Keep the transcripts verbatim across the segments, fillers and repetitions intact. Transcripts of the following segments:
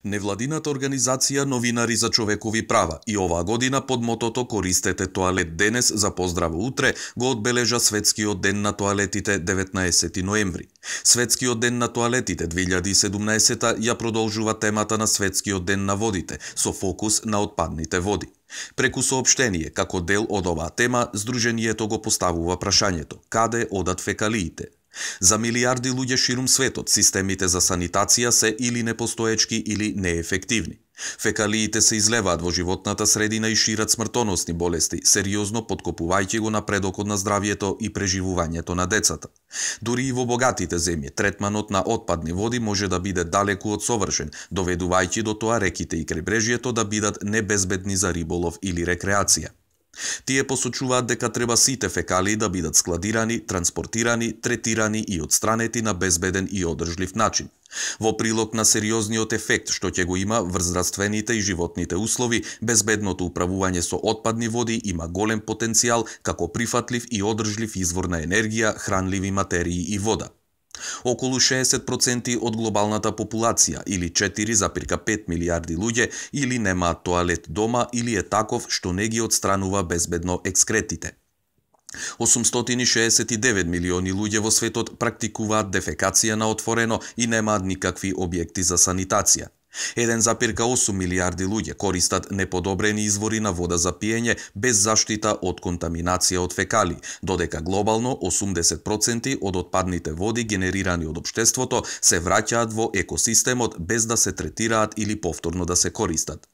Невладината организација Новинари за човекови права и оваа година под мотото "Користете тоалет денес за поздраво утре" го одбележа Светскиот ден на тоалетите деветнаесети ноември. Светскиот ден на тоалетите две илјади и седумнаесета ја продолжува темата на Светскиот ден на водите со фокус на отпадните води. Преку соопштение како дел од оваа тема, Сдруженијето го поставува прашањето: каде одат фекалиите? За милиарди луѓе ширум светот, системите за санитација се или непостоечки или неефективни. Фекалиите се излеваат во животната средина и шират смртоносни болести, сериозно подкопувајќи го напредокот на здравието и преживувањето на децата. Дури и во богатите земји, третманот на отпадни води може да биде далеку од совршен, доведувајќи до тоа реките и крайбрежјето да бидат небезбедни за риболов или рекреација. Тие посочуваат дека треба сите фекалии да бидат складирани, транспортирани, третирани и одстранети на безбеден и одржлив начин. Во прилог на сериозниот ефект што ќе го има врз здравствените и животните услови, безбедното управување со отпадни води има голем потенцијал како прифатлив и одржлив извор на енергија, хранливи материи и вода. Околу шеесет проценти од глобалната популација, или четири запирка пет милиарди луѓе, или немаат тоалет дома, или е таков што не ги одстранува безбедно екскретите. осумстотини шеесет и девет милиони луѓе во светот практикуваат дефекација на отворено и немаат никакви објекти за санитација. еден запирка осум милиарди луѓе користат неподобрени извори на вода за пиење без заштита од контаминација од фекали, додека глобално осумдесет проценти од отпадните води генерирани од општеството се враќаат во екосистемот без да се третираат или повторно да се користат.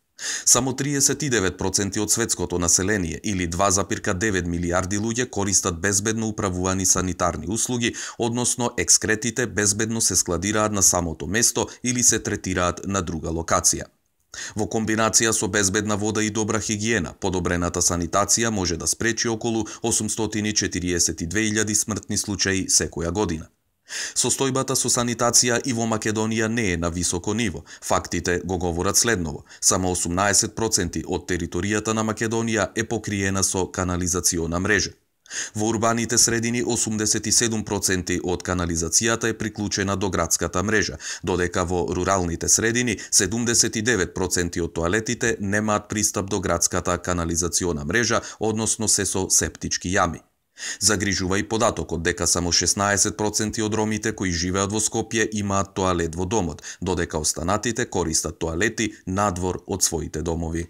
Само триесет и девет проценти од светското население, или два запирка девет милиарди луѓе, користат безбедно управувани санитарни услуги, односно екскретите безбедно се складираат на самото место или се третираат на друга локација. Во комбинација со безбедна вода и добра хигиена, подобрената санитација може да спречи околу осумстотини четириесет и две илјади смртни случаи секоја година. Состојбата со санитација и во Македонија не е на високо ниво. Фактите го говорат следново. Само осумнаесет проценти од територијата на Македонија е покриена со канализациона мрежа. Во урбаните средини осумдесет и седум проценти од канализацијата е приклучена до градската мрежа, додека во руралните средини седумдесет и девет проценти од тоалетите немаат пристап до градската канализациона мрежа, односно се со септички јами. Загрижува и податокот дека само шеснаесет проценти од ромите кои живеат во Скопје имаат тоалет во домот, додека останатите користат тоалети надвор од своите домови.